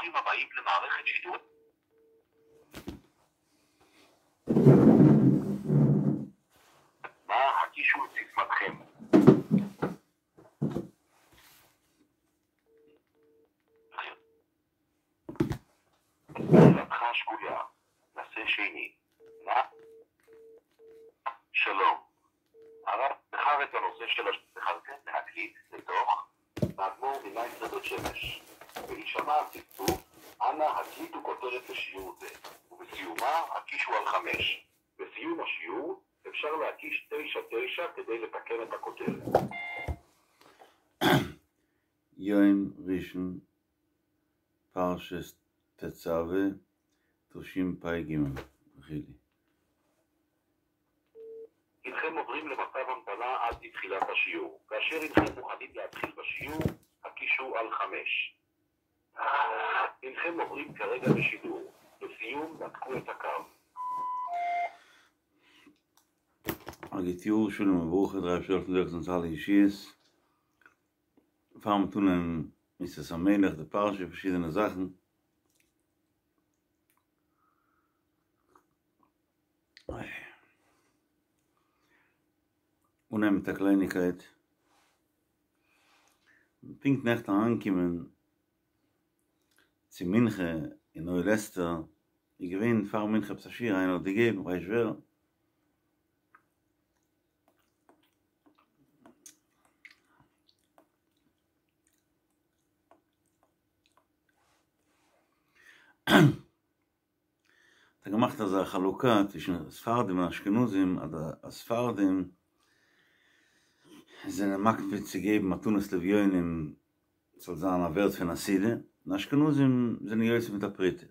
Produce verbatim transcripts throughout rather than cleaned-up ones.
ברוכים הבאים למערכת שידור. נא הקישו את סיסמתכם. שאלתך שגויה. נסה שני. נא. שלום. הרב בחר את הנושא של בחרתם להקליט לתוך האדמו"ר ממייסטר בית שמש. בהישמע הצפצוף, אנא הקליטו כותרת לשיעור זה, ובסיומה הקישו על חמש. בסיום השיעור אפשר להקיש תשע תשע כדי לתקן את הכותרת. יום ראשון, פרשת תצווה, תשפ"ג. חילי. הנכם עוברים למצב המתנה עד לתחילת השיעור. כאשר הנכם מוכנים להתחיל בשיעור, הקישו על חמש. הנכם עוברים כרגע בשידור. לסיום, נתקו את הקו. א גוט יאר, שלום וברכה, דער אייבערשטער זאל העלפן אונז אלע ישועות. פאר מיר טון אין מסת המלך, די פרשה, פארשידענע זאכן. אנהייבן מיט א קלייניגקייט. פונקט נעכטן אריינגעקומען צו מנחה אין אוהל אסתר, איז געווען פאר מנחה עפעס א שיעור איינער האט געגעבן, כ'ווייס נישט ווער. האט ער געמאכט אזא חלוקה צווישן ספרדים און אשכנזים, אז די ספרדים זענען מקפיד צו געבן מתנות לאביונים ס'זאל זיין א ווערט פון א סעודה, און אשכנזים זענען יוצא מיט א פרוטה.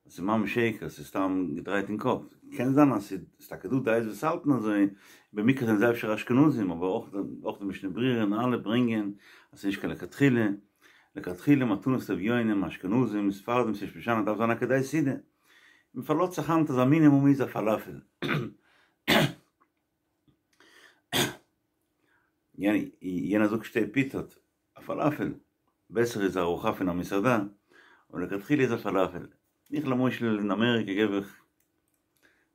עס איז ממש שקר, עס איז סתם געדרייט אין קאפ. קען זיין אז ס'איז טאקע דא דעות וואס האלטן אזוי, במקרה זענען זיי אפשר אשכנזים, אבער אויך אויך די משנה ברורה און אלע ברענגען אז ס'איז נישט קיין לכתחילה, לכתחילה מתנות לאביונים, אשכנזים, ספרדים, ס'נישט משנה, דארף זיין א כדי סעודה. מ'פארלאזט זיך היינט אז א מינימום איז א פאלאפעל. יענער זאגט שתי פיתות, א פאלאפעל, בעסער איז ארוחה פון א מסעדה, אבער לכתחילה איז א פאלאפעל. איך למשל אין אמעריקע געב איך,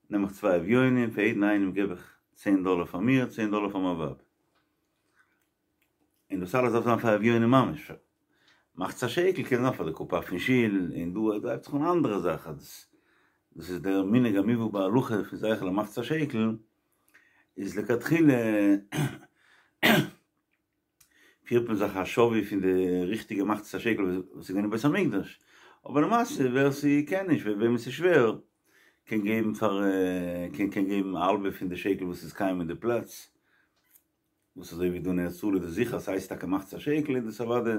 נעם איך צוויי אביונים, פאר יעדן איינעם געב איך צען דאלער פאר מיר, צען דאלער פאר מיין ווייב. און דאס אלעס דארף זיין פאר אביונים ממש. מחצית השקל קען זיין פאר די קופה פון שול, און דא דא הייבט זיך אן א אנדערע זאך, אז דאס איז דער מנהג המובא בהלכה פון זכר למחצית השקל, איז לכתחילה פירט מען זיך א שווי פון די ריכטיגע מחצית השקל וואס איז געווען אין בית המקדש, אבער למעשה ווער ס'קען נישט, וועמען ס'איז שווער, קען געבן פאר קען קען געבן א האלבע פון די שקל וואס איז קיים אין די פלאץ, וואס אזוי ווי דא אין ארץ ישראל איז דאס זיכער ס'הייסט טאקע מחצית השקל איז דאס אוודאי,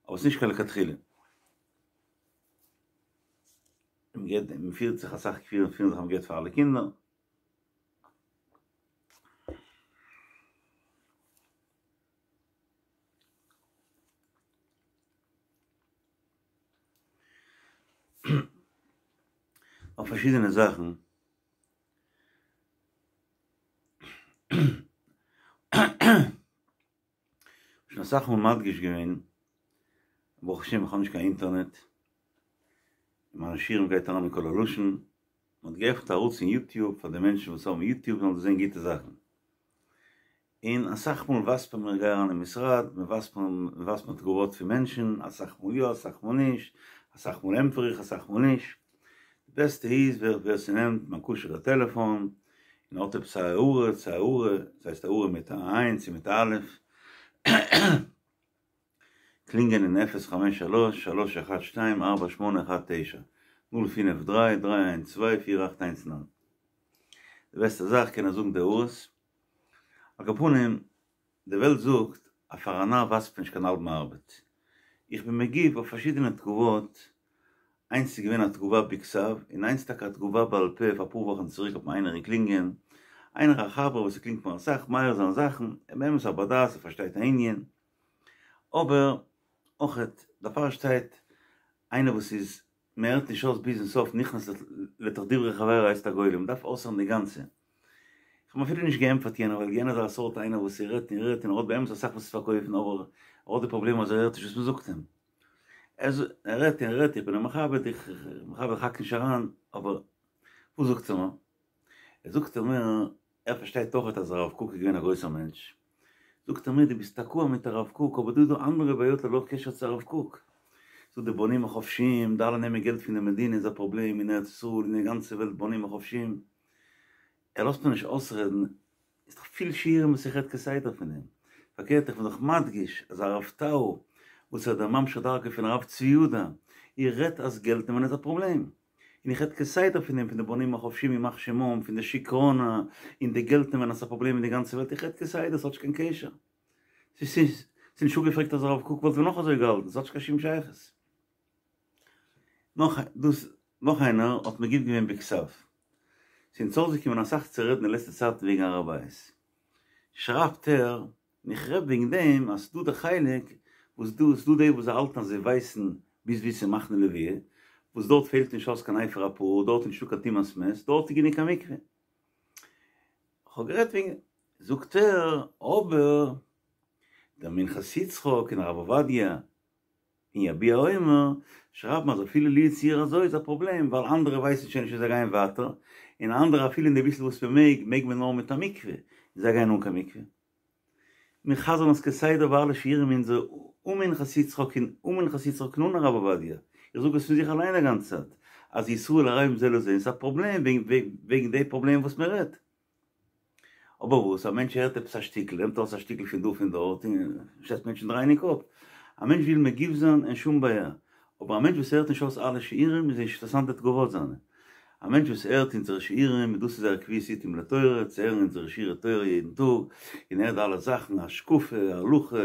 אבער ס'נישט קיין לכתחילה. מ'געט מ'פירט זיך אסאך פירן זיך אז מ'געט פאר אלע קינדער. אויף פארשידענע זאכן. שוין אסאך מאל מדגיש געווען, ברוך השם איך האב נישט קיין אינטערנעט, און מיינע שיעורים גייט אריין אין קול הלשון, מען האט געעפנט א ערוץ אין יוטיוב פאר די מענטשן וואס האבן יוטיוב זאלן זען גוטע זאכן, און אסאך מאל ווייזט מען מיר, איך גיי אריין אין משרד, מען ווייזט מיר, מען ווייזט מיר תגובות פון מענטשן, אסאך מאל יא אסאך מאל נישט, אסאך מאל ענטפער איך אסאך מאל נישט, די בעסטע איז ווער ווער ס'נעמט מיין כשר'ע טעלעפאן און האט עפעס א הערה צו הערה, ס'הייסט הערה מיט א עין צו מיט א אלף, קלינגען אין אפס חמש שלוש שלוש אחת שתיים ארבע שמונה אחת תשע, נול פינף דריי דריי איינס צוויי פיר אכט איינס ניין. די בעסטע זאך קען ער זאגן די הערות. על כל פנים, די וועלט זאגט אז פאר א נאר ווייזט מען נישט קיין האלבן ארבעט. איך בין מגיב אויף פארשידענע תגובות, איינס איז געווען א תגובה בכתב, און איינס טאקע א תגובה בעל פה, פאר אפאר וואכן צוריק האט מיר איינער געקלינגען, איינער א חבר וואס ער קלינגט מיר אסאך, מעיר זיין זאכן, ער באמת א בר דעת, ער פארשטייט א ענין, אבער אויכעט דערפאר שטייט איינער וואס איז מען הערט נישט אויס ביזן סוף נכנס לתוך דברי חברו הייסט א גולם, מען דארף אויסהערן די גאנצע. איך האב אפילו נישט געענטפערט יענער ווייל יענער איז א סארט איינער וואס ער רעדט און רעדט און ער האט באמת אסאך וואס צו פארקויפן אבער ער האט די פראבלעם אז ער הערט נישט וואס מען זאגט אים. ער רעדט און רעדט, איך בין אים מכבד, איך מכבד, איך האק נישט אריין, אבער וואס זאגט ער מיר? ער זאגט ער מיר, ער פארשטייט אויכעט אז הרב קוק איז געווען א גרויסער מענטש. זאגט ער מיר, דו ביסט תקוע מיט הרב קוק, אבער דא איז דא אנדערע בעיות ללא קשר צו הרב קוק. זאגט די בנים החופשיים, די אלע נעמען געלט פון די מדינה איז א פראבלעם אין ארץ ישראל, אין די גאנצע וועלט בנים החופשיים. ער לאזט מיר נישט אויסרעדן, איז דאך פיל שיעורים וואס איך רעד כסדר פון דעם. פארקערט איך בין דאך מדגיש אז הרב טאו וואס איז דער ממשיך דרכו פון הרב צבי יהודה, איך רעד אז געלט נעמען איז א פראבלעם. און איך רעד כסדר פון דעם, פון די בנים החופשיים ימח שמם, פון די שיכרונה, און די געלט נעמען אז ס'איז א פראבלעם אין די גאנצע וועלט, איך רעד כסדר, ס'האט נישט קיין קשר. ס'איז נישט אפגעפרעגט אז הרב קוק וואלט ווען נאך אזוי געהאלטן, ס'האט נישט קיין שום שייכות. נאך דאס, נאך איינער האט מגיב געווען בכתב. ס'איז אונז אויסגעקומען אסאך צו רעדן די לעצטע צייטן וועגן הר הבית. שרייבט ער, און איך רעד וועגן דעם אז ס'דא די חלק וואס דא ס'דא די וואס זיי האלטן אז זיי ווייסן ביז ווי ס'איז מחנה לוויה, וואס דארט פעלט נישט אויס קיין אפר הפרה, דארט איז נישטא קיין טומאת מת, דארט איז גענוג א מקווה. כ'האב גערעדט וועגן, זאגט ער, אבער דער מנחת יצחק און הרב עובדיה און יביע אומר שרייבן אז אפילו לו יצוייר אזוי איז א פראבלעם ווייל אנדערע ווייסן שוין נישט און זיי גייען ווייטער, און אנדערע אפילו אין די ביסל וואס מ'מעג, מעג מען נאר מיט א מקווה, און זיי גייען אן קיין מקווה. מיר חזר'ן עס כסדר ביי אלע שיעורים אונזערע אן מנחת יצחק און אן מנחת יצחק און אן הרב עובדיה, איך זאג עס פון זיך אליין א גאנצע צייט, אז ישראל ערבים זה לזה און ס'איז א פראבלעם וועגן די פראבלעם וואס מען רעדט. אבער וואס, א מענטש הערט עפעס א שטיקל, נעמט ארויס א שטיקל פון דא פון דארט, און שטעלט מענטשן דרייען אין קאפ. א מענטש וויל מגיב זיין, אין שום בעיה. אבער א מענטש וואס הערט נישט אויס אלע שיעורים איז נישט אינטערעסאנט די תגובות זיינע. א מענטש וואס הערט אונזערע שיעורים, און דאס איז זייער קביעות עתים לתורה, צו הערן אונזערע שיעורי תורה יעדן טאג, און הערט די אלע זאכן, השקפה, הלכה,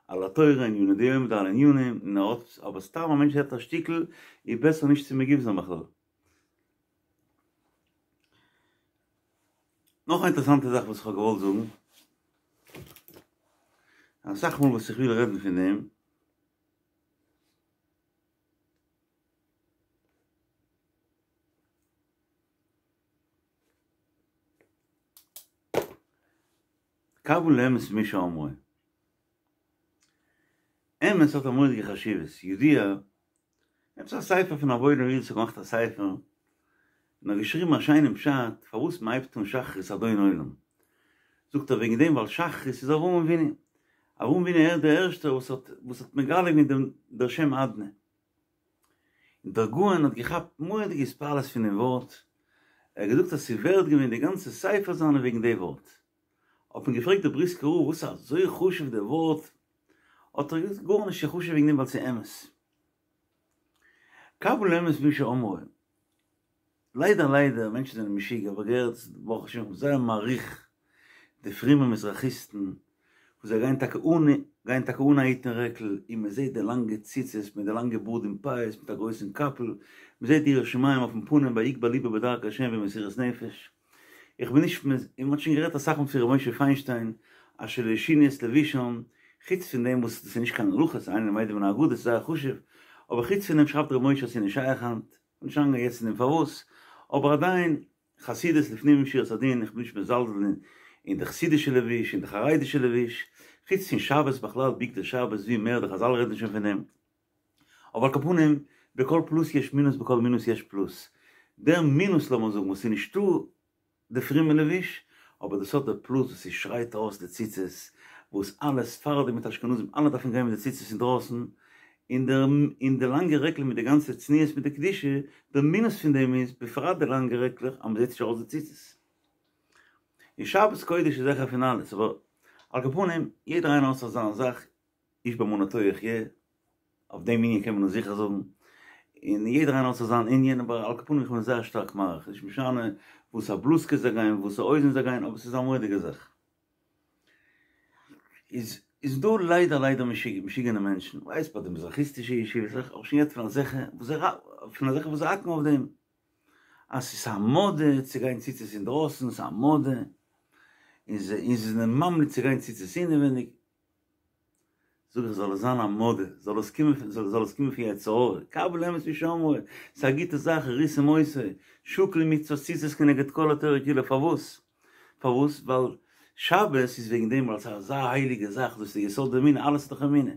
על התורה, עניני דיומא, די אלע ענינים, און ער האט, אבער סתם א מענטש הערט א שטיקל, איז בעסער נישט צו מגיב זיין בכלל. נאך א אינטערעסאנטע זאך וואס איך האב געוואלט זאגן, אסאך מאל וואס איך וויל רעדן פון דעם, קבל האמת ממי שאמרו. אמת האט א מורא'דיגע חשיבות, ידוע, עפעס א ספר פון א וואוילער איד וואס האט געמאכט א ספר, און האט געשריבן א שיינעם פשט פארוואס מען הייבט אן שחרית אדון עולם, זאגט ער וועגן דעם ווייל שחרית איז אברהם אבינו, אברהם אבינו ער איז דער ערשטער וואס האט וואס האט מגלה געווען דעם דער שם אדני, און דער גאון האט געכאפט מורא'דיגע התפעלות פון דעם ווארט, ער האט געזאגט אז ס'איז ווערד געווען די גאנצע ספר זיינע וועגן די ווארט, האט מען געפרעגט די בריסקער רב וואס איז אזוי חשוב די ווארט, האט ער געזאגט גארנישט ס'איז חשוב וועגן דעם ווייל ס'איז אמת. קבל האמת ממי שאמרו. ליידער ליידער מענטשן זענען משוגע האב איך געהערט ברוך השם איך בין זייער מעריך די פרומע מזרחיסטן וואס זיי גייען טאקע אן גייען טאקע אן א היט און רעקל און מען זעט די לאנגע ציצית מיט די לאנגע בארד און פאות מיט א גרויסן קאפל מען זעט די יראת שמים אויפן פנים ויגבה לבו בדרכי השם במסירות נפש איך בין נישט און מען האט שוין גערעדט אסאך מאל פון ר' משה פיינשטיין אשר לא שינו את לבושם חוץ פון דעם וואס דאס איז נישט קיין הלכה ס'איז אינו למד מן האגדות ס'איז זייער חשוב אבער חוץ פון דעם שרייבט ר' משה אז ס'איז נישט שייך היינט נישט אריינגיין יעצט אין דעם פארוואס, אבער עדיין, חסידות לפנים משורת הדין, איך בין נישט מזלזל אין די חסידישע לבוש, אין די חרדישע לבוש, חוץ פון שבת בכלל, בגדי שבת ווי מער, די חזל רעדן שוין פון דעם, אבער על כל פנים, בכל פלוס יש מינוס בכל מינוס יש פלוס, דער מינוס לאמיר זאגן וואס איז נישטא די פרומע לבוש, אבער דאס האט די פלוס וואס ס'שרייט ארויס די ציצית, וואס אלע ספרדים מיט אשכנזים אלע דארפן גיין מיט די ציצית אינדרויסן, און די און די לאנגע רעקל מיט די גאנצע צניעות מיט די קדושה, די מינוס פון דעם איז, בפרט די לאנגע רעקלעך, אז מ'זעט נישט ארויס די ציצית. און שבת קודש איז העכער פון אלעס, אבער על כל פנים, יעדער איינער האט זיך זיין זאך, איש באמונתו יחיה, אויף דעם ענין קען מען עס זיכער זאגן, און יעדער איינער האט זיך זיין ענין, אבער על כל פנים איך בין זייער שטארק מעריך, נישט משנה וואס א בלוזקע זיי גייען, וואס א הויזן זיי גייען, אבער ס'איז א מורא'דיגע זאך. איז איז דא ליידער ליידער משוגענע מענטשן, ווייסט ביי די מזרחיסטישע ישיבות, איך האב שוין געהערט פון אזעלכע וואס זיי פון אזעלכע וואס זיי האקן אויף דעם, אז ס'איז א מאדע צו גיין ציצית אינדרויסן, ס'איז א מאדע, און זיי זענען ממליץ צו גיין ציצית אינעווייניג, זאג איך זאל עס זיין א מאדע, זאל עס קומען פון, זאל עס קומען פון יצר הרע, קבל האמת ממי שאמרו, ס'איז א גוטע זאך, וראיתם אותו, שקול מצות ציצית כנגד כל התורה כולה, פארוואס? פארוואס? ווייל שבת איז וועגן דעם ווייל ס'איז אזא הייליגע זאך, דאס איז די יסוד האמונה, אלעס איז דאך אמונה.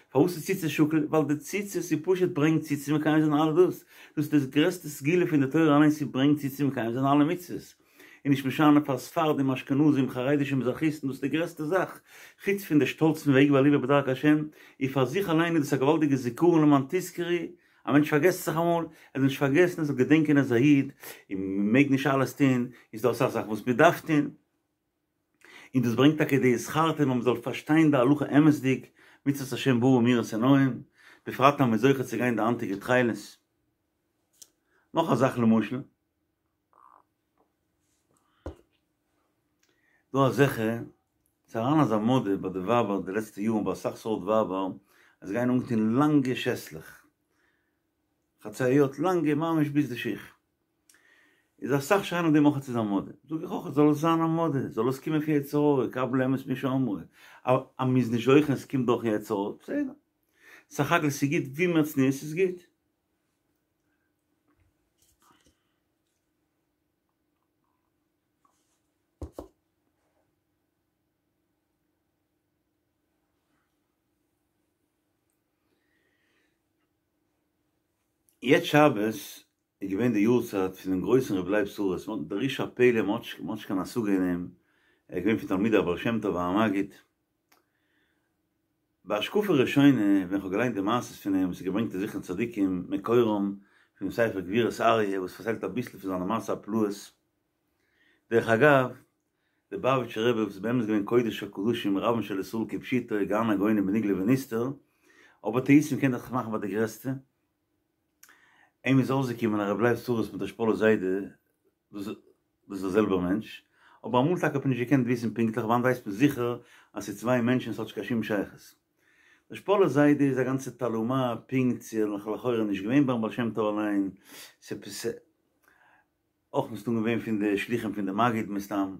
פארוואס איז ציצית שקול? ווייל די ציצית איז פשוט ברענגט צו צו מקיים זיין אלע דאס. דאס איז דאס גרעסטע סגולה פון די תורה אליין, ס'ברענגט צו צו מקיים זיין אלע מצוות. און נישט משנה פאר ספרדים, אשכנזים, חרדישע, מזרחיסטן, דאס איז די גרעסטע זאך. חוץ פון די שטאלץ פון ויגבה לבו בדרכי השם, און פאר זיך אליין איז דאס א געוואלדיגע זיכרון למען תזכרו, א מענטש פארגעסט זיך אמאל, ער זאל נישט פארגעסן, ער זאל געדענקען ער איז א איד, און מען מעג נישט אלעס טון, איז דא אסאך זאכן וואס מען דארף טון. און דאס ברענגט טאקע די וזכרתם אז מען זאל פארשטיין די הלכה אמת'דיג, מצוות השם ברא מאירת עיניים, בפרט אז מען איז זוכה צו גיין די היינטיגע תכלת. נאך א זאך למשל, דא אזעלכע, ס'איז אריין אזא מאדע ביי די ווייבער די לעצטע יארן ביי אסאך סארט ווייבער, אז זיי גייען אנגעטון לאנגע שעסלעך, חצאיות לאנגע ממש ביז די שיך. איז אסאך שרייען אויף דעם אויך ס'איז א מאדע. זאג איך אויך זאל עס זיין א מאדע, זאל עס קומען פון יצר הרע, קבל האמת ממי שאמרו. אז מ'איז נישט זוכה און ס'קומט דורכן יצר הרע, בסדר. סך הכל ס'איז גוט ווי מער צניעות איז גוט. יעצט שבת איז געווען די יארצייט פונעם גרויסן רבי לייב שרה'ס, דער איש הפלא, מ'האט נישט קיין השגה אין אים, ער איז געווען פון תלמידי הבעל שם טוב והמגיד. בהשקפה ראשונה ווען כ'האב געליינט די מעשות פון אים וואס איז געברענגט אין זכרון צדיקים מקורם פונעם ספר גבורות אריה וואס פארציילט אביסל פון זיינע מעשי הפלאות, דרך אגב, דער ליובאוויטשער רבי וואס איז באמת געווען קודש הקדשים רבן של ישראל כפשוטו גאון הגאונים בנגלה ונסתר, אבער טעותים קען זיך מאכן ביי די גרעסטע, אים איז אויסגעקומען אז רבי לייב שרה'ס מיט דער שפאלער זיידע דאס איז דער זעלבער מענטש, אבער אמאל טאקע האט מען נישט געקענט וויסן פונקטליך, היינט ווייסט מען זיכער אז ס'איז צוויי מענטשן ס'האט נישט קיין שום שייכות. דער שפאלער זיידע איז א גאנצע תעלומה, פונקט ס'איז לכאורה נישט געווען ביים בעל שם טוב אליין, ס'עפעס אויך מסתם געווען פון די שלוחים פון די מגיד מסתם.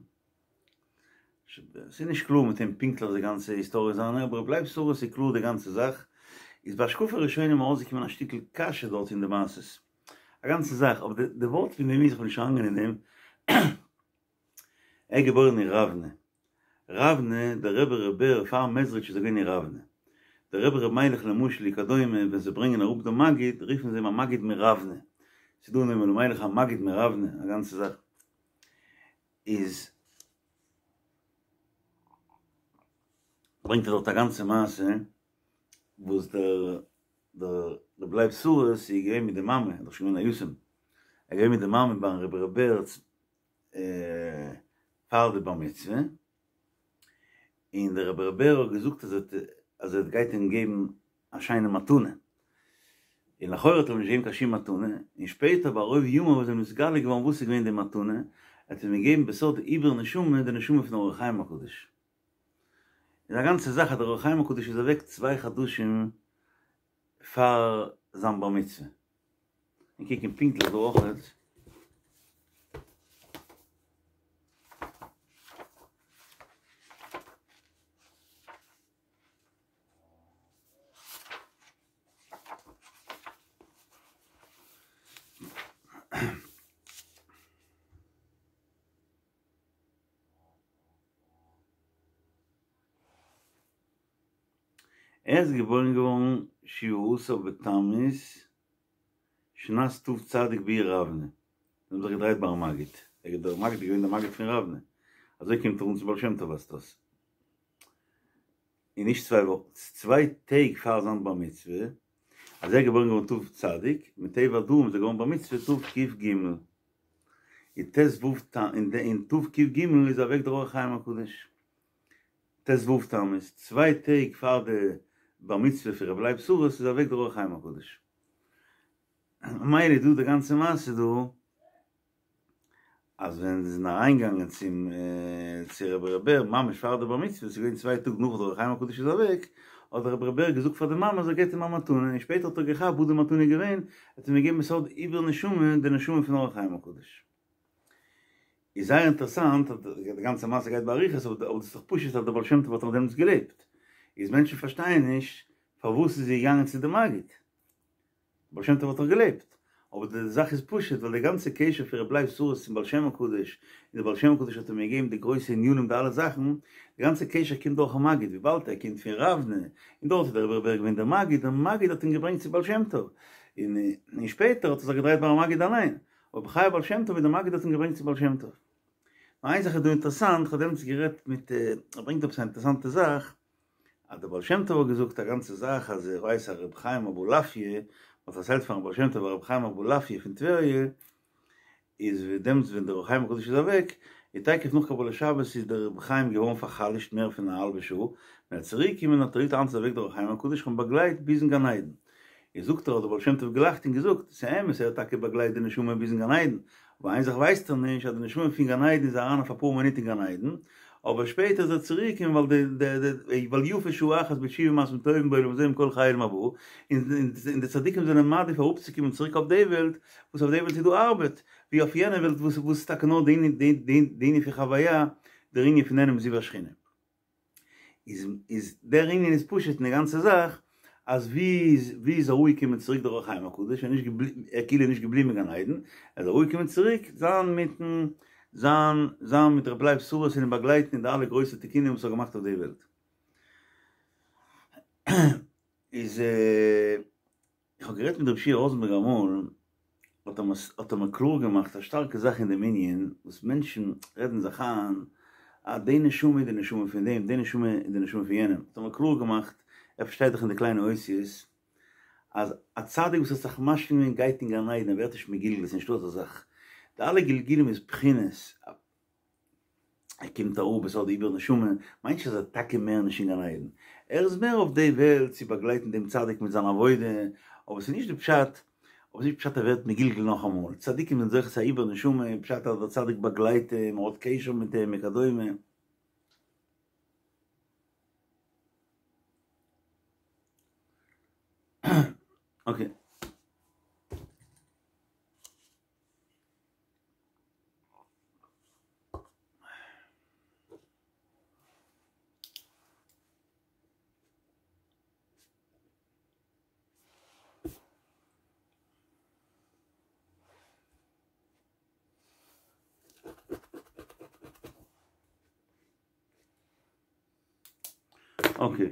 ס'איז נישט קלאר מיט אים פונקטליך די גאנצע היסטאריע זיינע, אבער רבי לייב שרה'ס איז קלאר די גאנצע זאך, איז בהשקפה ראשונה מיר אויסגעקומען א שטיקל קשיא דארט אין די מעשות. א גאנצע זאך, אבער די די ווארט פון דעם איז, איך בין נישט אריינגיין אין דעם, ער איז געבוירן אין ראוונע, ראוונע, דער רבי ר' בער פאר מעזריטש איז ער געווען אין ראוונע, דער רבי ר' מיילעך למשל וכדומה ווען זיי ברענגען אראפ דעם מגיד רופן זיי אים המגיד מראוונע, ס'איז דא אין נועם אלימלך המגיד מראוונע, א גאנצע זאך איז ברענגט ער דארט א גאנצע מעשה וואס דער דער רבי לייב שרה'ס איז געווען מיט די מאמע, ער איז דאך שוין געווען א יתום, ער איז געווען מיט די מאמע ביים רבי ר' בער פאר די בר מצוה, און דער רבי ר' בער האט געזאגט אז ער אז ער גייט אים געבן א שיינע מתנה, און לכאורה האט ער אים נישט געגעבן קיין שום מתנה, און שפעטער בערוב ימיו איז אים נתגלה געווארן וואס איז געווען די מתנה, ער האט אים געגעבן בסוד עיבור נשמה די נשמה פון אור החיים הקדוש. איז א גאנצע זאך אז דער אור החיים הקדוש איז אוועק צוויי חדשים פאר זיין בר מצוה. און קוקן פונקטליך דא אויכעט. ער איז געבוירן געווארן שבעה עשר בתמוז שנת תצ בעיר ראוונע, זיי האבן זיך געדרייט ביים מגיד, דער מגיד איז געווען דער מגיד פון ראוונע, אזוי קומט ער אן צום בעל שם טוב ווייזט אויס, און נישט צוויי וואכן, צוויי טעג פאר זיין בר מצוה, אז ער איז געבוירן געווארן תצ, מטבע הדברים איז ער געווארן בר מצוה תק"ג, אין ט"ו אין תק"ג איז אוועק דער אור החיים הקדוש, ט"ו תמוז, צוויי טעג פאר די בר מצוה פון רבי לייב שרה'ס איז אוועק דער אור החיים הקדוש. ממילא איז דא די גאנצע מעשה דא, אז ווען זיי זענען אריינגעגאנגען צום צו רבי ר' בער ממש פאר די בר מצוה, ס'איז געווען צוויי טאג נאך דער אור החיים הקדוש איז אוועק, האט דער רבי ר' בער געזאגט פאר די מאמע אז ער געבט אים א מתנה, און שפעטער האט ער געכאפט וואס די מתנה איז געווען, ער האט אים געגעבן בסוד עיבור נשמה, די נשמה פון אור החיים הקדוש. איז זייער אינטערעסאנט אז די גאנצע מעשה גייט באריכות, אבער דאס איז דאך פשוט אז דער בעל שם טוב האט נאך דעמאלטס געלעבט, איז מענטשן פארשטייען נישט פארוואס איז זי געגאנגען צו די מגיד, בעל שם טוב האט דאך געלעבט, אבער די זאך איז פשוט, ווייל די גאנצע קשר פון רבי לייב שרה'ס צום בעל שם הקדוש, און דער בעל שם הקדוש האט אים געגעבן די גרויסע ענינים די אלע זאכן, די גאנצע קשר קומט דורכן מגיד, וויבאלד ער קומט פון ראוונע, און דארט איז דער רבי ר' בער געווען דער מגיד, דער מגיד האט אים געברענגט צום בעל שם טוב, און און שפעטער האט ער זיך געדרייט ביים מגיד אליין, אבער בחיי בעל שם טוב איז דער מגיד האט אים געברענגט צום בעל שם טוב. נאר איין זאך איז דא אינטערעסאנט, כ'האב דעמאלטס גערעדט מיט, ער ברענגט עפעס א אינטערעסאנטע זאך, אז דער בעל שם טוב האט געזאגט א גאנצע זאך אז ער ווייסט אז רבי חיים אבולעפיא האט פארציילט פארן בעל שם טוב אז רבי חיים אבולעפיא פון טבריה איז ווי דעמאלטס ווען דער אור החיים הקדוש איז אוועק איז תיכף נאך קבלת שבת איז דער רבי חיים געווארן פאר'חלש'ט מער פון א האלבע שעה, ווען ער איז צוריק געקומען האט ער געזאגט היינט איז אוועק דער אור החיים הקדוש איך האב אים באגלייט ביזן גן עדן איז זאגט ער האט דער בעל שם טוב געלאכט און געזאגט ס'איז אמת ער האט טאקע באגלייט די נשמה ביזן גן עדן אבער איין זאך ווייסט ער נישט אז די נשמה פון גן עדן איז אריין אויף אפאר מינוט אין גן עדן אבער שפעטער איז ער צוריק און ווייל די די ווייל יפה שעה אחת בתשובה ומעשים טובים בעולם הזה מכל חיי עולם הבא, און און די צדיקים זענען מעדיף אראפצוקומען צוריק אויף די וועלט, וואס אויף די וועלט איז דא ארבעט, ווי אויף יענע וועלט וואס וואס איז טאקע נאר די ענין די די ענין פון חוויה, דער ענין פון נהנה מזיו השכינה. איז איז דער ענין איז פשוט אין די גאנצע זאך, אז ווי איז ווי איז אראפגעקומען צוריק דער אור החיים הקדוש, ער איז נישט געבליבן, ער כאילו נישט געבליבן אין גן עדן, ער איז אראפגעקומען צוריק זיין מיטן זיין זיין מיט רבי לייב שרה'ס און אים באגלייטן אין די אלע גרויסע תיקונים וואס ער האט געמאכט אויף די וועלט. איז איך האב גערעדט מיט רבי שיע ראזענבערג אמאל, האט ער האט ער מיר קלאר געמאכט א שטארקע זאך אין דעם ענין, וואס מענטשן רעדן זיך איין אז די נשמה איז די נשמה פון דעם, די נשמה איז די נשמה פון יענעם, האט ער מיר קלאר געמאכט, ער פארשטייט דאך אין די קליינע אותיות, אז א צדיק וואס האט זיך משלים געווען גייט אין גן עדן, ער ווערט נישט מגולגל, ס'איז נישטא אזא זאך, די אלע גלגולים איז בחינות, ער קומט אראפ עס האט די עיבור נשמה, מיינט נישט אז ער איז טאקע מער נישט אין גן עדן, ער איז מער אויף די וועלט צו באגלייטן דעם צדיק מיט זיין עבודה, אבער ס'איז נישט די פשט, אבער ס'איז נישט פשט ער ווערט מגולגל נאכאמאל, צדיקים זענען זוכה צו א עיבור נשמה, פשט אז דער צדיק באגלייט אים, ער האט קשר מיט אים וכדומה. אקעי. אקעי.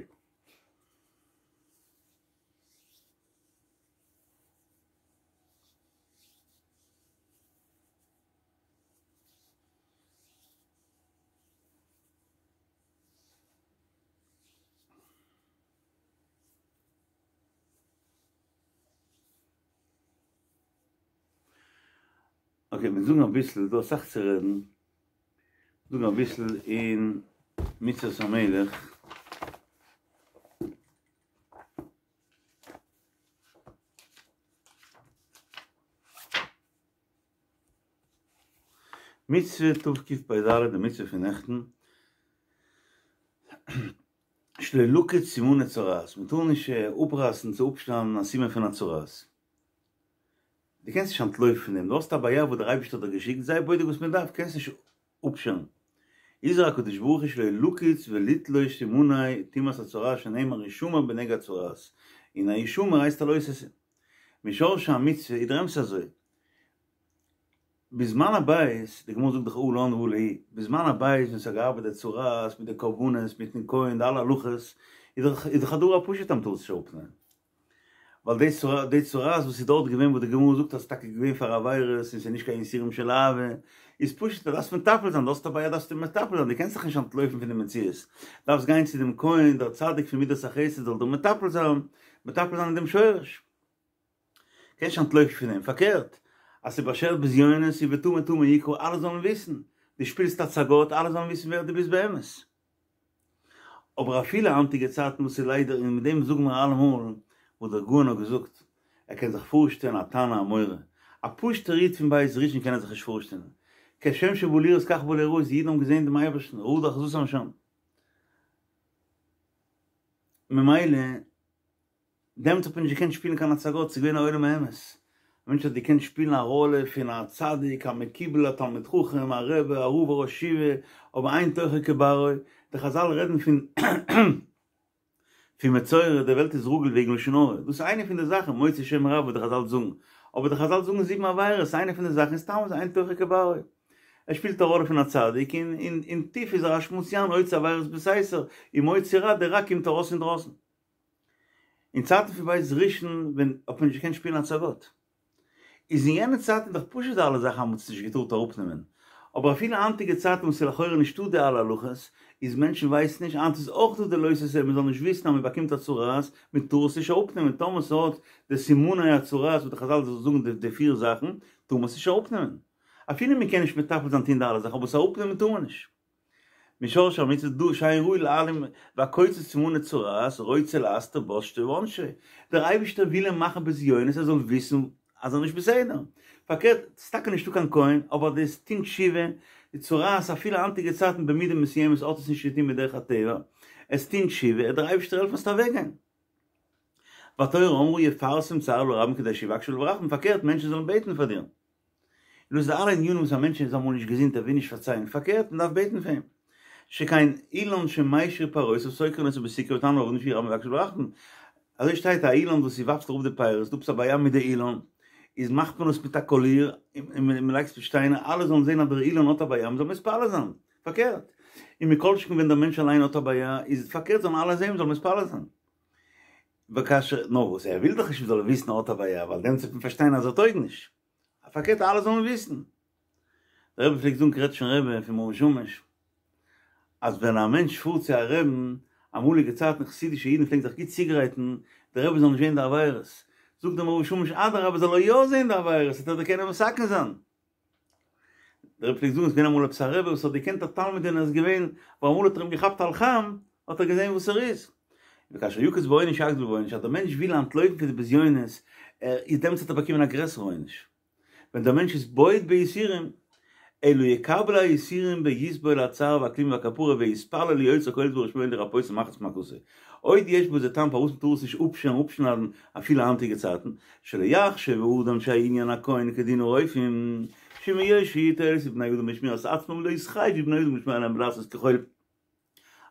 אקעי, מיר זאגן אביסל, דא אסאך צו רעדן, זאגן אביסל אין מצוות המלך. מצוה תקפ"ד, די מצוה פון נעכטן, שלא לקוץ סימני צרעת, מען טאר נישט אפרייסן צו אפשניידן א סימן פון א צרעת. דו קענסט נישט אנטלויפן פון דעם, דו האסט א בעיה וואס דער אייבערשטער האט דיר געשיקט, זיי בודק וואס מען דארף, קענסט נישט אפשערן. הזהיר הקדוש ברוך הוא שלא לקוץ ולתלוש סימני טומאת הצרעת שנאמר השמר בנגע הצרעת, און א השמר הייסט א לא תעשה. משורשי המצוה איז דער אמת אזוי, בזמן הבית, די גמרא זאגט דאך הא לן והא להו, בזמן הבית ווען ס'האט געארבעט די צרעת מיט די קרבנות מיטן כהן די אלע הלכות, איז דאך איז דאך א דבר הפשוט אז מ'טאר עס נישט אראפנעמען. ווייל די צרעת די צרעת וואס איז דארט געווען וואס די גמרא זאגט אז ס'איז טאקע געווען פאר עבירות און ס'איז נישט קיין יסורים של אהבה, איז פשוט אז דארפסט מטפל זיין, דו האסט א בעיה דארפסטו מטפל זיין, דו קענסט זיך נישט אנטלויפן פון די מציאות, דארפסט גיין צו דעם כהן דער צדיק פון מידת החסד זאל דיר מטפל זיין, מטפל זיין אין דעם שורש. קענסט נישט אנטלויפן פון דעם, פארקערט, אז ס'איז באשערט בזיונות איז וטמא טמא יקרא, אלע זאלן וויסן, דו שפילסט הצגות, אלע זאלן וויסן ווער דו ביסט באמת. אבער אפילו היינטיגע צייטן וואס איז ליידער, און מיט דעם זאגן מיר אלעמאל וואס דער גאון האט געזאגט, ער קען זיך פארשטעלן א תנא אמורא, א פשוט'ער איד פון בית ראשון קען ער זיך נישט פארשטעלן, כשם שבא לראות כך בא ליראות, די אידן האבן געזען דעם אייבערשטן, רדו אחזתם שם. ממילא. דעמאלטס האט מען נישט געקענט שפילן קיין הצגות, ס'איז געווען א עולם האמת. א מענטש האט געקענט שפילן א ראלע פון א צדיק, א מקובל, א תלמיד חכם, א רבי, א רב, א ראש ישיבה, אבער אין תוכו כברו. די חזל רעדן פון פון מצורע, די וועלט איז רגיל וועגן לשון הרע. דאס איז איינע פון די זאכן, מוציא שם רע וואס די חזל זאגן. אבער די חזל זאגן זיבן עבירות, איינע פון די זאכן איז סתם אזוי אין תוכו כברו. ער שפילט א ראלע פון א צדיק, און אין טיף איז ער א שמוציאן עושה עבירות בסתר, און מוציא רע, די רע קומט ארויס אינדרויסן. אין צייטן פון בית ראשון ווען האט מען נישט געקענט שפילן הצגות. איז אין יענע צייטן דאך פשוט די אלע זאכן אז מ'האט עס נישט געטארט אראפנעמען. אבער אפילו היינטיגע צייטן וואס איז לכאורה נישטא די אלע הלכות, איז מענטשן ווייסן נישט, היינט איז אויך דא די לא תעשה מ'זאל נישט וויסן אז מ'באקומט א צרעת, מ'טאר עס נישט אראפנעמען, טאמער ס'האט די סימני הצרעת וואס די חזל זאגן די פיר זאכן, טאר מען עס נישט אראפנעמען. אפילו מ'קען נישט מטפל זיין טון די אלע זאכן, אבער עס אראפנעמען טאר מען נישט. משרשי המצוות דא שאין ראוי להעלים והקוצץ סימני צרעת רוצה להסתיר בושתו ועונשו, דער אייבערשטער וויל אים מאכן בזיונות ער זאל וויסן אז ער איז נישט בסדר, פארקערט ס'איז טאקע נישטא קיין כהן אבער דאס טון תשובה, די צרעת אפילו היינטיגע צייטן במידה מסוימת האט עס נישט צו טון מיט דרך הטבע, עס טון תשובה עט דער אייבערשטער העלפן עס וועט אוועקגיין. והתורה אמרה יפרסם צערו לרבים כדי שיבקשו עליו רחמים, פארקערט מענטשן זאלן בעטן פאר דיר. און דאס איז די אלע ענינים וואס א מענטש איז אמאל נישט געזונט ער וויל נישט פארציילן, פארקערט מען דארף בעטן פאר אים. שכן אילן שמשיר פירותיו סוקרין אותו בסיקרא ותנא עליו שיהא רבים מבקשים עליו רחמים. אזוי שטייט א אילן וואס ס'ווארפט אראפ די פירות, דא עפעס א בעיה מיט די אילן, איז מאכט מען עס מיט א קאליר און מען לייגט עס מיט שטיינער אלע זאלן זען אז דער אילן האט א בעיה מען זאל מתפלל זיין, פארקערט. און מכל שכן ווען דער מענטש אליין האט א בעיה איז פארקערט זאלן אלע זען מען זאל מתפלל זיין. וכאשר, נאר וואס ער וויל דאך נישט מען זאל וויסן ער האט א בעיה ווייל דעמאלטס וועט מען פארשטיין אז ער טויג נישט. פארקערט אלע זאלן וויסן. דער רבי פלעגט זאגן קרעטשניפער רבי פון מאור ושמש, אז ווען א מענטש פארט צו א רעבן, אמאליגע צייטן חסידישע אידן פלעגן זיך גוט צוגרייטן, דער רבי זאל נישט זען די עבירות. זאגט דער מאור ושמש אדרבה זאל ער יא זען די עבירות, וועט ער דאך קענען מתקן זיין. דער רבי פלעגט זאגן, עס איז געווען אמאל עפעס א רבי וואס האט געקענט א תלמיד און ער איז געווען, אבער אמאל האט ער אים געכאפט על חם, האט ער געזען וואס ער איז. וכאשר יקוץ בעונש יגדיל בעונש, אז דער מענטש וויל אנטלויפן פון די בזיונות, ער איז דעמאלטס האט ער באקומען א גרעסערע עונש. ווען דער מענטש איז בועט ביסורים, אלא יקבל היסורים ויסבול הצער והכלימה והכפרה ויתפלל ליוצר כל יתברך שמו לרפאותו ממחלת מכתו. עוד יש בזה טעם פארוואס מ'טאר עס נישט אפשערן אפשניידן אפילו היינטיגע צייטן, שלא יחשב האדם שהעניין הכהן כדין הרופאים, שמהיות שהיא תועלת לבני אדם בשמירת עצמם לא יתחייבו בני אדם לשמור עליהם ולעשות ככל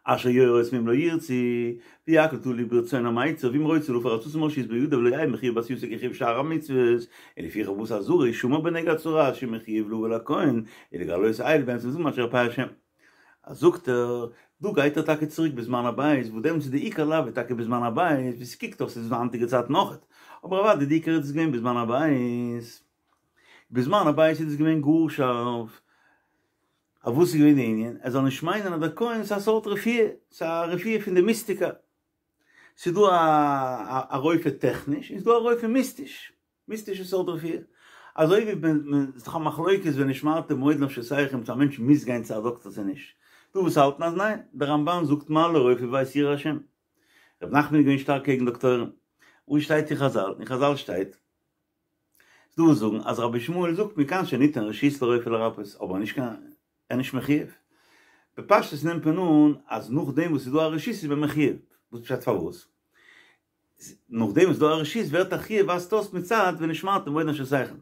אשר יורו אותם אם לא ירצו, והכל תלוי ברצון המיצר, ואם רוצה להפר עצתו מרשות בידו ולא יהא מחויב בעשייתו כחיוב שאר המצוות, ולפיכך בא אזהרה השמר בנגע הצרעת שמחויב לבוא לכהן, ולגלות האל באמצע זמן עד שירפא השם. אז זאגט ער, דא גייט ער טאקע צוריק בזמן הבית, וואס דעמאלטס איז די עיקר לאו איז טאקע בזמן הבית, ווי ס'קוקט אויס איז עס היינטיגע צייטן אויכעט, אבער אוודאי די עיקר איז עס געווען בזמן הבית. בזמן הבית איז עס געווען גאר שארף. אבער וואס איז געווען די ענין? ער זאל נישט מיינען אז דער כהן איז א סארט רפואה, ס'איז א רפואה פון די מיסטיקה. ס'איז דא א רופא טעכניש, און ס'איז דא א רופא מיסטיש, מיסטישע סארט רפואה. אזוי ווי מען, ס'איז דאך א מחלוקת ונשמרתם מאוד לנפשותיכם צו א מענטש מוז גיין צו א דאקטער צו נישט. דא וואס האלטן אז ניין, דער רמב"ן זאגט מה לרופא בעת יראה השם. ר' נחמן איז געווען שטארק קעגן דאקטוירים. וואו שטייט אין חזל? אין חזל שטייט. ס'דא וואס זאגן אז רבי ישמעאל זאגט מכאן שניתן רשות לרופא לרפאות אבער נישט קיין ער איז נישט מחויב. בפשטות נעמט מען אן אז נאכדעם וואס ס'איז דא א רשות איז מען מחויב. וואס פשט פארוואס? נאכדעם וואס ס'איז דא א רשות ווערט א חיוב ווייזט אויס מצד ונשמרתם מאוד לנפשותיכם.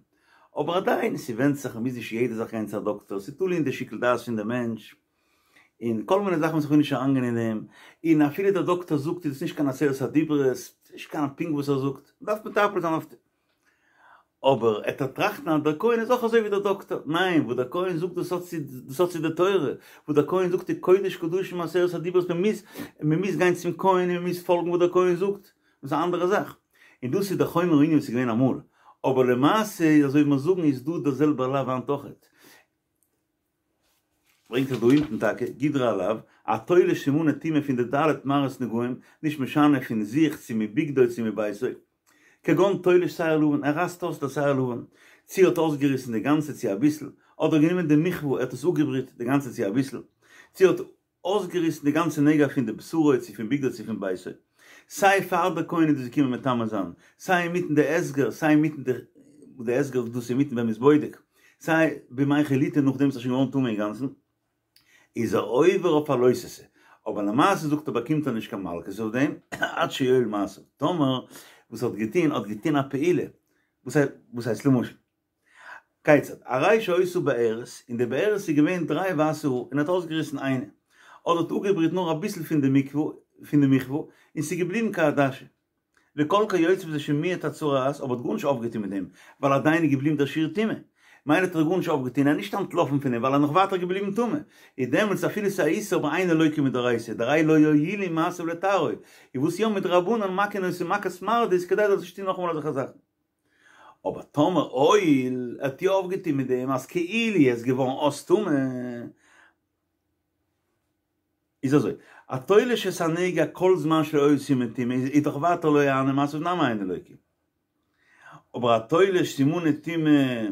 אבער עדיין ס'ווענדט זיך מ'מוז נישט יעדע זאך גיין צו א דאקטער ס'איז תלוי אין די שיקול דעת פון די מענטש. און כל מיני זאכן וואס איך וויל נישט אריינגיין אין דעם, און אפילו דער דאקטער זאגט איז עס נישט קיין עשרת הדיברות, ס'איז נישט קיין פונקט וואס ער זאגט, מ'דארף מטפל זיין אויף אבער עט ער טראכטן אז דער כהן איז אויך אזוי ווי דער דאקטער, ניין, וואס דער כהן זאגט דאס האט צו דאס האט צו די תורה, וואס דער כהן זאגט איז קודש קדשים עשרת הדיברות, מען מוז מען מוז גיין צום כהן און מען מוז פאלגן וואס דער כהן זאגט, דאס איז א אנדערע זאך, און דאס איז דער חומר הענין וואס איז געווען אמאל, אבער למעשה אזוי ווי מיר זאגן איז דא דער זעלבער לאו היינט אויכעט. ברענגט זיך דא אונטן טאקע, גדרי הלאו, התולש סימני טומאה פון די ד' מראות נגעים, נישט משנה פון זיך צו מבגדו צו מביתו, כגון תולש שער לבן, ער רייסט אויס די שער לבן, צו ער האט אויסגעריסן די גאנצע צו אביסל, אדער גענומען די מכוה ער האט עס אפגעבריט די גאנצע צו אביסל, צו ער האט אויסגעריסן די גאנצע נגע פון די בשרו צו פון בגדו צו פון ביתו. סיי פאר די כהן איז דאס געקומען מטמא זיין, סיי אינמיטן די הסגר, סיי אינמיטן די די הסגר דאס אינמיטן ווען מ'איז בודק, סיי בימי חליטה נאכדעם ס'איז שוין געווארן טמא אינגאנצן, איז ער עובר אויף א לא תעשה. אבער למעשה זאגט ער באקומט ער נישט קיין מלקות אויף דעם, עד שיועיל מעשיו. טאמער וואס ער האט געטון, האט געטון א פעולה, וואס הייסט למשל, כיצד, הרי שהיתה בארת, אין די בארת איז געווען דריי ווייסע האר און ער האט אויסגעריסן איינע, אדער האט אפגעבריט נאר אביסל פון די מקוה, פון די מכוה, און ס'איז געבליבן כעדשה. וכל כיוצא בזה שמיעט הצרעת, אבער האט גארנישט אויפגעטון מיט דעם, ווייל עדיין איז געבליבן דער שיעור טומאה. מילא האט ער גארנישט אויפגעטון, ער איז נישט אנטלאפן פון דעם, ווייל ער איז נאך ווייטער געבליבן טמא. איז דעמאלטס אפילו ס'איז א איסור אבער אינו לוקה מדאורייתא, דהרי לא הועילו מעשיו לטהרו, איז וואס יא מדרבנן מכין אותו מכת מרדות כדי ער זאל נישט טון נאכאמאל אזעלכע זאכן. אבער טאמער הועיל, ער האט יא אויפגעטון מיט דעם אז כאילו ער איז געווארן אויס טמא, איז אזוי, התולש את הנגע כל זמן שלא היו סימן טומאה איז דאך ווייטער לא אהני מעשיו נמי אינו לוקה. אבער התולש סימני טומאה,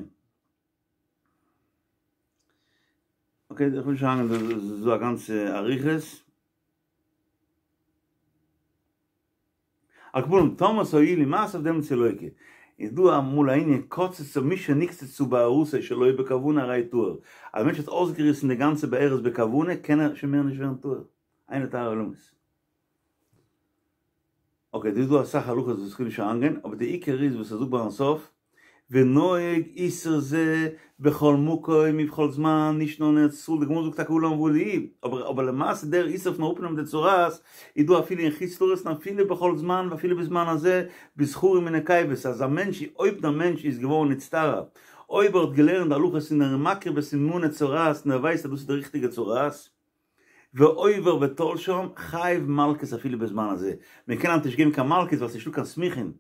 אקעי איך וויל נישט אריינגיין דא איז דא א גאנצע אריכות. על כל פנים טאמער ס'הועילו מעשיו דעמאלטס איז לוקה. איז דא אמאל א ענין קצצה מי שנקצצה שערותו שלא בכוונה הרי טהור. אז א מענטש האט אויסגעריסן די גאנצע שערות בכוונה קען ער שוין מער נישט ווערן טהור. אין לו טהרה עולמית. אקעי דא איז דא אסאך הלכות וואס כ'וויל נישט אריינגיין אבער די עיקר איז וואס ער זאגט ביים סוף ונוהג איסור זה בכל מקום ובכל זמן, נישט נאר אין ארץ ישראל, די גמרא זאגט טאקע הא לן והא להו, אבער אבער למעשה דער איסור פון אראפנעמען די צרעת איז דא אפילו אין חוץ לארץ און אפילו בכל זמן ואפילו בזמן הזה בזכרים ונקבות, אז א מענטש אויב דער מענטש איז געווארן נצטרע, אויב ער האט געלערנט די הלכות און ער איז מכיר בסימני צרעת און ער ווייסט אז דאס איז די ריכטיגע צרעת, ועובר ותולשם, חייב מלקות אפילו בזמן הזה, מען קען היינט נישט געבן קיין מלקות ווייל ס'נישטא קיין סמוכין,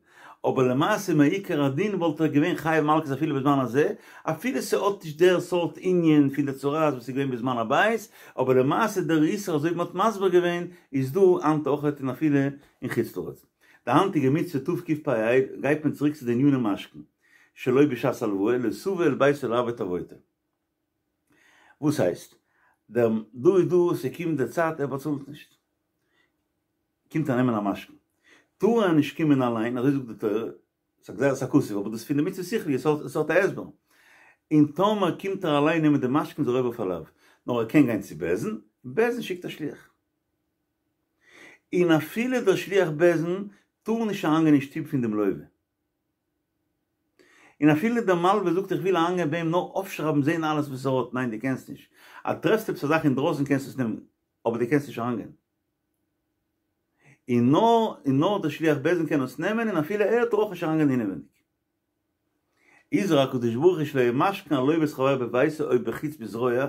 אבער למעשה מעיקר הדין וואלט ער געווען חייב מלקות אפילו בזמן הזה, אפילו ס'האט נישט דער סארט ענין פון די צרעת וואס איז געווען בזמן הבית, אבער למעשה דער איסור אזוי ווי מ'האט מסביר געווען איז דא היינט אויכעט און אפילו אין חוץ לארץ. די היינטיגע מצוה תקפ"ה גייט מען צוריק צו די עניני משכון שלא בשעת הלוואה, לא תבוא אל ביתו לעבוד עבודתו. וואס הייסט? דער דא איז דא, ס'קומט די צייט ער באצאלט נישט. קומט ער נעמען א משכון. טאר ער נישט קומען אליין, אזוי זאגט די תורה, ס'איז א גזירת הכתוב, אבער דאס איז פון די מצוה שכלית, עס האט א הסבר. און טאמער קומט ער אליין נעמען די משכון איז ער עובר אויף א לאו. נאר ער קען גיין צו בית דין, בית דין שיקט א שליח. און אפילו דער שליח בית דין טאר נישט אריינגיין אין שטוב פון דעם לווה. און אפילו דער מלווה זאגט איך וויל אריינגיין ביי אים נאר אויפשרייבן זעהן אלעס וואס ער האט, ניין דו קענסט נישט, אז טרעפסט עפעס א זאך אינדרויסן קענסטו עס נעמען, אבער דו קענסט נישט אריינגיין. און נאר און נאר דער שליח בית דין קען עס נעמען און אפילו ער טאר אויך נישט אריינגיין אינעווייניג. הזהיר הקדוש ברוך הוא שלא ימשכן הלווה את חברו בביתו או בחוץ בזרוע,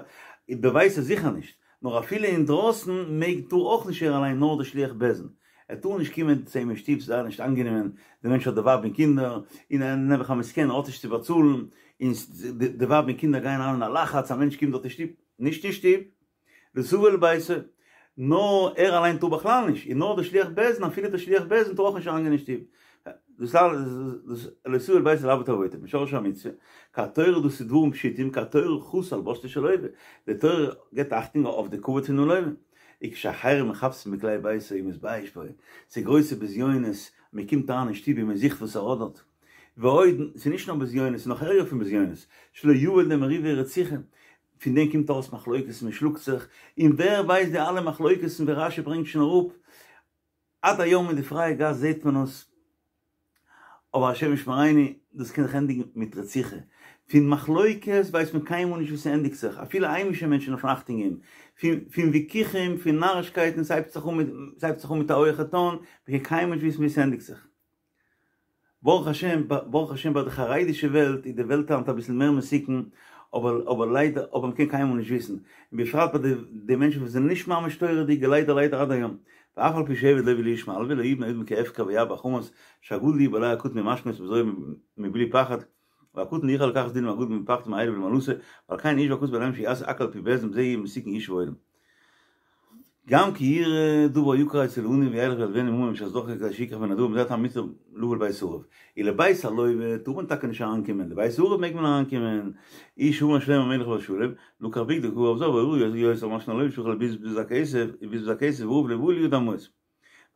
בביתו זיכער נישט, נאר אפילו אינדרויסן מעג טאר אויך נישט ער אליין נאר דער שליח בית דין, ער טאר נישט קומען צו אים אין שטוב, ס'איז זייער נישט איינגענומען, דער מענטש האט די ווייב און קינדער, און ער נעבעך א מסכן, ער האט נישט צו באצאלן, און די ווייב און קינדער גייען אריין אין א לחץ, א מענטש קומט דארט אין שטוב, נישט אין שטוב, לא תבוא אל ביתו, נאר ער אליין טאר בכלל נישט, און נאר דער שליח בית דין, אפילו דער שליח בית דין טאר אויך נישט אריינגיין אין שטוב, דאס אלעס לא תבוא אל ביתו לעבוד עבודתו, משרש המצוה, כי התורה דאס איז דברים פשוטים, כי התורה חסה על בושתו של לווה, די תורה געבט אכטונג אויף די כבוד פונעם לווה. וכשאחרים מחפשים בכלי ביתו ומתבייש בו, ס'איז גרויסע בזיונות, מען קומט אריין אין שטוב און מען זוכט וואס ער האט דארט. ועוד, ס'איז נישט נאר בזיונות, ס'איז נאך ערגער פון בזיונות, שלא יבא לידי מריבה ורציחה, פון דעם קומט ארויס מחלוקת, מען שלאגט זיך, און ווער ווייסט די אלע מחלוקת'ן ווי רש"י ברענגט שוין אראפ, עד היום אין די פרייע גאס זעט מען עס, אבער השם ישמרינו, דאס קען זיך ענדיגן מיט רציחה. פון מחלוקת ווייסט מען קיינמאל נישט וואו ס'ענדיגט זיך, אפילו היימישע מענטשן דארפן אכטונג געבן, פון פון וויכוחים, פון נארישקייטן, ס'הייבט זיך אן מיט, ס'הייבט זיך אן מיט א הויעכע טאן, מ'קען קיינמאל נישט וויסן וואו ס'ענדיגט זיך. ברוך השם, ברוך השם ביי די חרדישע וועלט איז די וועלט היינט אביסל מער מתוקן, אבער אבער ליידער, אבער מ'קען קיינמאל נישט וויסן, און בפרט ביי די די מענטשן וואס זענען נישט ממש תורה'דיג, ליידער ליידער עד היום, ואף על פי שעבד לוה לאיש מלוה לא יהיו בני אדם כהפקר וירבה החמס שהגדול יהיה בעלי הקטן ממשכנות בזרוע מבלי פחד והקטן לא יוכל לקחת דין מהגדול מפחד מאלה ולמעלתו ועל כן השווה הכתוב ביניהם שיעשה הכל על פי בית דין בזה יהיה מתוקן ישוב העולם גם כי יראה דבר יקר אצל העני וילך וילוונו ממון בשעת דחקו כדי שיקח בנדבה וזה הטעם מותר לבוא לבית הערב ולבית הלוה טאר מען טאקע נישט אריינקומען לבית הערב מעג מען אריינקומען הוא שאמר שלמה המלך עליו השלום לקח בגדו כערב זב הירא יותר משכון הלוה שיכול לבזבז הכסף לבזבז הכסף והערב לא בא לידו מעות.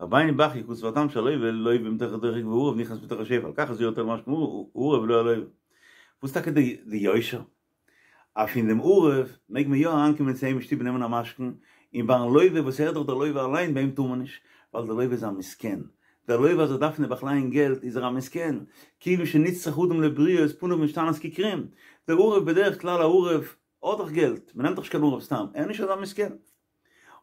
רבינו בחיי כתב הטעם שהלוה לוה מתוך הדוחק והערב נכנס מתוך השפע על כך הזהירו התורה למשכן הערב ולא הלוה. וואס טאקע די יושר? אז פון דעם ערב מעג מען יא אריינקומען צו אים אין שטוב און נעמען א משכון, און ביים לוה וואס ער איז דאך דער לוה אליין ביי אים טאר מען נישט, ווייל דער לוה איז א מסכן, דער לוה אז ער דארף נעבעך לייען געלט איז ער א מסכן, כיוון שנצרך אדם לבריות פניו משתנות ככרום, דער ערב בדרך כלל א ערב האט דאך געלט, מען נעמט דאך נישט קיין ערב סתם, ער איז נישט אזא מסכן.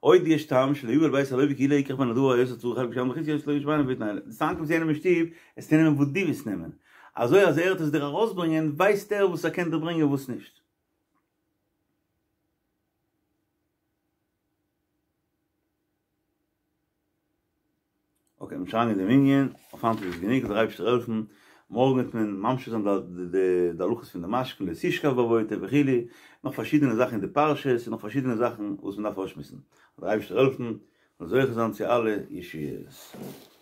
עוד יש טעם שלא יבא אל בית הלוי כי לא יקח ממנו הדבר היותר צריך חלק שם וחצי יש לו ישמענו ויתנאי. דאס אנקומסט צו יענעם אין שטוב, עסטו נעמען וואס דו ווילסט נעמען. אזוי אז ער וועט עס דיר ארויסברענגען, ווייסט ער וואס ער קען דיר ברענגען וואס נישט. אקעי, מיר שרייען אין דעם ענין, אויף היינט איז עס גענוג, זאל דער אייבערשטער העלפן, מארגן וועט מען ממשיך זיין די די הלכות פון די משכון, לא תשכב בעבותא וכו', נאך פארשידענע זאכן אין די פרשות, און נאך פארשידענע זאכן וואס מען דארף אויסשמועסן. זאל דער אייבערשטער העלפן, מ'זאל זוכה זיין צו אלע ישועות.